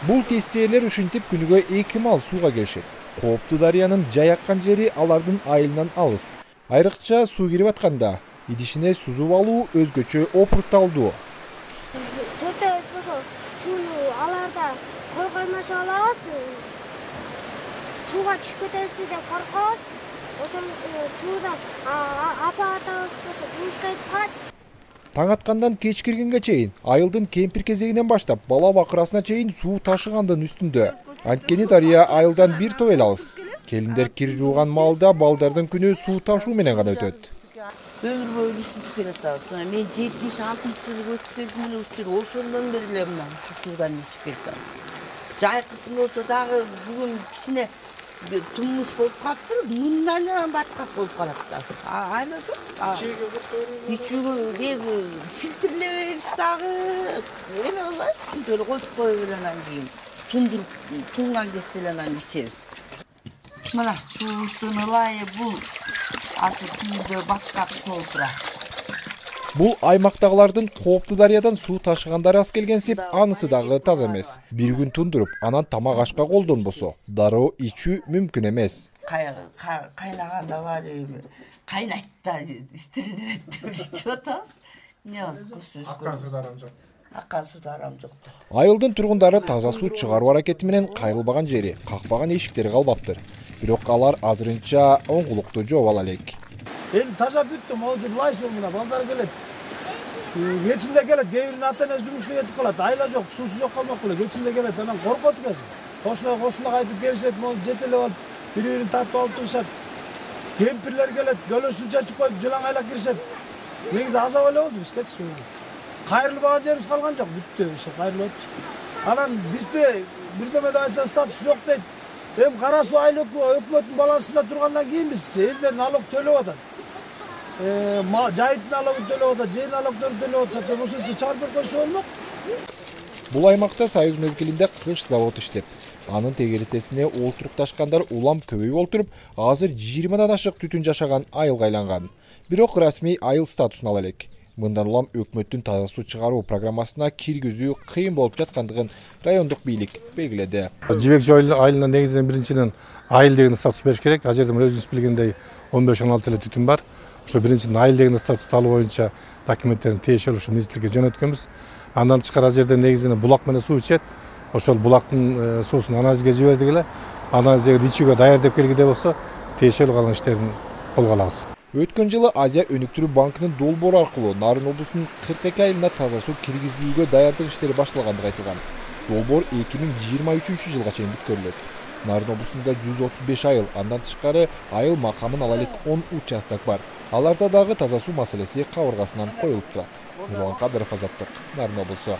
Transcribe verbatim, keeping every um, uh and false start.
Бул тестиелер ушинтип күнүгө эки мал сууга келишет. Кооптуу дарыянын жайаккан жери алардын айылынан алыс. Айрыкча суу кирип атканда идишине сузуп алуу өзгөчө опурукталдуу. Төртөөбүз болсо сууну аларда койгоймош алабыз. Сууга түшүп кетебизби деп коркобуз. Ошол сууда апа атабыз болсо жумушка кетип калат. Таң аткандан кеч киргенге чейин айылдын кемпир кезегинен баштап бала бакырасына чейин суу ташыгандын үстүндө. Анткени дарыя айылдан бир топ эле алыс. Келиндер кир жууган маалда балдардын күнү суу ташуу менен гана өтөт. Өмүр бою ушинтип келатабыз. Мына мен жетимиш алтынчы жылы көчүп келдим эле ушул ошондон бери эле мына ушу суудан ичип келатабыз. Жайкысын болсо дагы бүгүн кичине тумуш болуп калыптыр, мындан эле баткак болуп калат да. Айла жок. Ичүүгө бир фильтрлебейбиз дагы. Эме кылбайбыз, ушинтип эле коюп коюп эле анан кийин тундуруп, тунган кезде эле анан ичебиз. Мына суубуздун ылайы бул азыр күйдө баткак болуп турат. Бул аймактагылардын кооптуу дарыядан суу ташыгандары аз келгенсип, анысы дагы таза эмес. Бир күн тундуруп, анан тамак ашка колдонбосо, дароо ичүү мүмкүн эмес. Кайнаганда бар эми, кайнайт да, истиринет деп ичип атабыз. Эмне кылабыз? Аккан суу дарам жок. Аккан суу дарам жок. Айылдын тургундары таза суу чыгаруу аракети менен кайрылбаган жери, какпаган эшиктери калбаптыр. Бирок алар азырынча оңгулукту жооп ала элек. Эми тажап бүттүм, озур лай суу мына балдар келет. Кечинде келет, кээ биринин ата энеси жумушка кетип калат. Айла жок, суусу жок калмак беле. Кечинде келет, анан коркот экен. Кошуна кошуна кайтып келишет, могу жетелеп алып, бири-бирин тартып алып чыгышат. Кемпирлер келет, көлө суу чачып коюп, жылаң айлап киришет. Негизи азап эле болду бизге суу. Кайрылбаган жерибиз калган жок, бүттү, ошо кайрылып атчы. Анан бизде бирдеме да айтса статус жок дейт. Эми кара суу айыл өкмөттүн балансында тургандан кийин биз элдер налог төлөп атат. Жайыттын налогун төлөп атат, жер налогдорун төлөп атышат. Ошончо чыгарып койсо болмок. Бул аймакта союз мезгилинде кыш завод иштеп, анын тегеритесине олтурукташкандар улам көбөйүп олтуруп, азыр жыйырмадан ашык түтүн жашаган айылга айланган. Бирок расмий айыл статусун ала элек. Мындан улам өкмөттүн таза суу чыгаруу программасына киргизүү кыйын болуп жаткандыгын райондук бийлик белгиледи. Жибек Жоо айылына негизинен биринчиден айыл деген статус бериш керек. Ал жерде өзүңүз билгендей он беш он алты эле түтүн бар. Ошо биринчиден айыл деген статусту алуу боюнча документтерин тиешелүү ушу министрликке жөнөткөнбүз. Андан тышкары ал жерде негизинен булак менен суу ичет. Ошол булактын суусун анализге жибердик эле. Анализге ичүүгө даяр деп келгиде болсо, тиешелүү калган иштерин колго алабыз. Өткөн жылы Азия өнүктүрүү банкынын долбоору аркылуу Нарын облусунун кырк эки айылына таза суу киргизүүгө даярдык иштери башталгандыгы айтылган. Долбоор эки миң жыйырма үчүнчү жылга чейин бүткөрүлөт. Нарын облусунда жүз отуз беш айыл, андан тышкары айыл макамын ала элек он участок бар. Аларда дагы таза суу маселеси кабыргасынан коюлуп турат. Нурлан Кадыров, Азаттык, Нарын облусу.